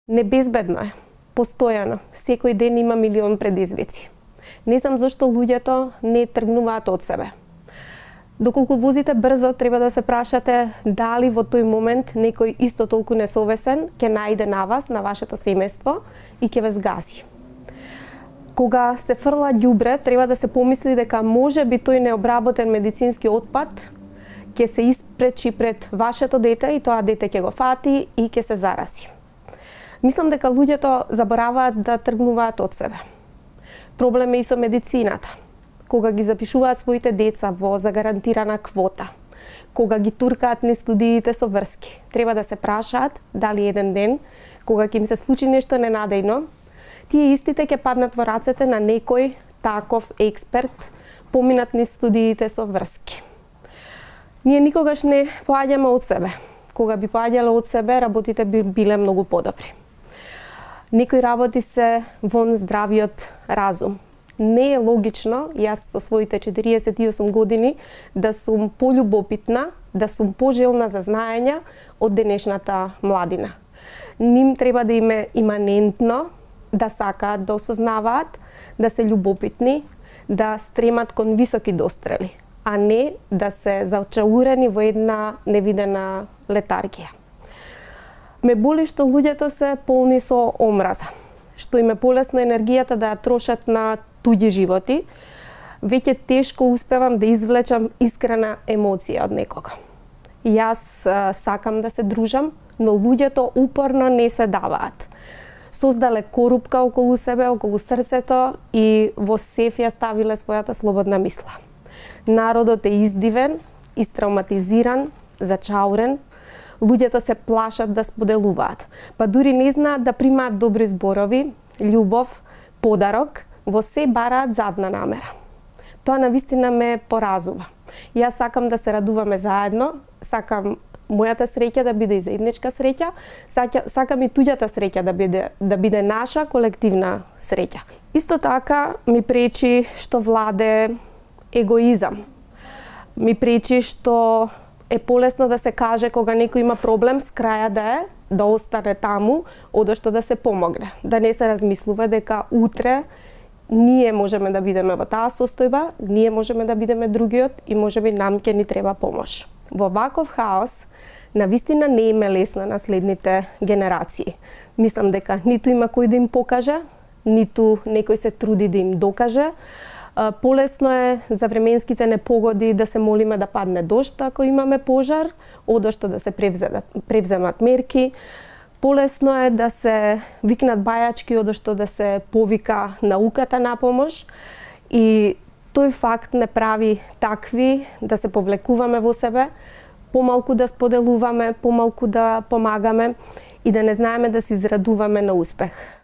Небезбедно е, постојано, секој ден има милион предизвици. Не знам зашто луѓето не тргнуваат од себе. Доколку возите брзо, треба да се прашате дали во тој момент некој исто толку несовесен ќе најде на вас, на вашето семејство и ќе ве згази. Кога се фрла ѓубре, треба да се помисли дека може би тој необработен медицински отпад ќе се испречи пред вашето дете и тоа дете ќе го фати и ќе се зарази. Мислам дека луѓето забораваат да тргнуваат од себе. Проблем е и со медицината. Кога ги запишуваат своите деца во загарантирана квота, кога ги туркаат низ студиите со врски, треба да се прашаат дали еден ден, кога ќе им се случи нешто ненадејно, тие истите ќе паднат во рацете на некој таков експерт, поминат низ студиите со врски. Ние никогаш не поаѓаме од себе. Кога би поаѓале од себе, работите би биле многу подобри. Некои работи се вон здравиот разум. Не е логично, јас со своите 48 години, да сум полюбопитна, да сум пожелна за знаење од денешната младина. Ним треба да им е иманентно да сакаат да осознаваат, да се љубопитни, да стремат кон високи дострели, а не да се зачаурени во една невидена летаргија. Ме боли што луѓето се полни со омраза, што им е полесно енергијата да ја трошат на туѓи животи. Веќе тешко успевам да извлечам искрена емоција од некога. Јас сакам да се дружам, но луѓето упорно не се даваат. Создале корупка околу себе, околу срцето и во сеф ја ставиле својата слободна мисла. Народот е издивен, истравматизиран, зачаурен. Луѓето се плашат да споделуваат, па дури не знаат да примаат добри зборови, љубов, подарок, во се бараат задна намера. Тоа навистина ме поразува. Јас сакам да се радуваме заедно, сакам мојата среќа да биде и заедничка среќа, сакам и туѓата среќа да биде наша колективна среќа. Исто така ми пречи што владе егоизам. Ми пречи што е полесно да се каже кога некој има проблем с краја да остане таму, одошто да се помогне. Да не се размислува дека утре ние можеме да бидеме во таа состојба, ние можеме да бидеме другиот и можеби нам ќе ни треба помош. Во ваков хаос, навистина не им е лесно на следните генерации. Мислам дека ниту има кој да им покаже, ниту некој се труди да им докаже. Полесно е за временските непогоди да се молиме да падне дожд ако имаме пожар, одошто да се превземат мерки. Полесно е да се викнат бајачки, одошто да се повика науката на помош. И тој факт не прави такви да се повлекуваме во себе, помалку да споделуваме, помалку да помагаме и да не знаеме да се израдуваме на успех.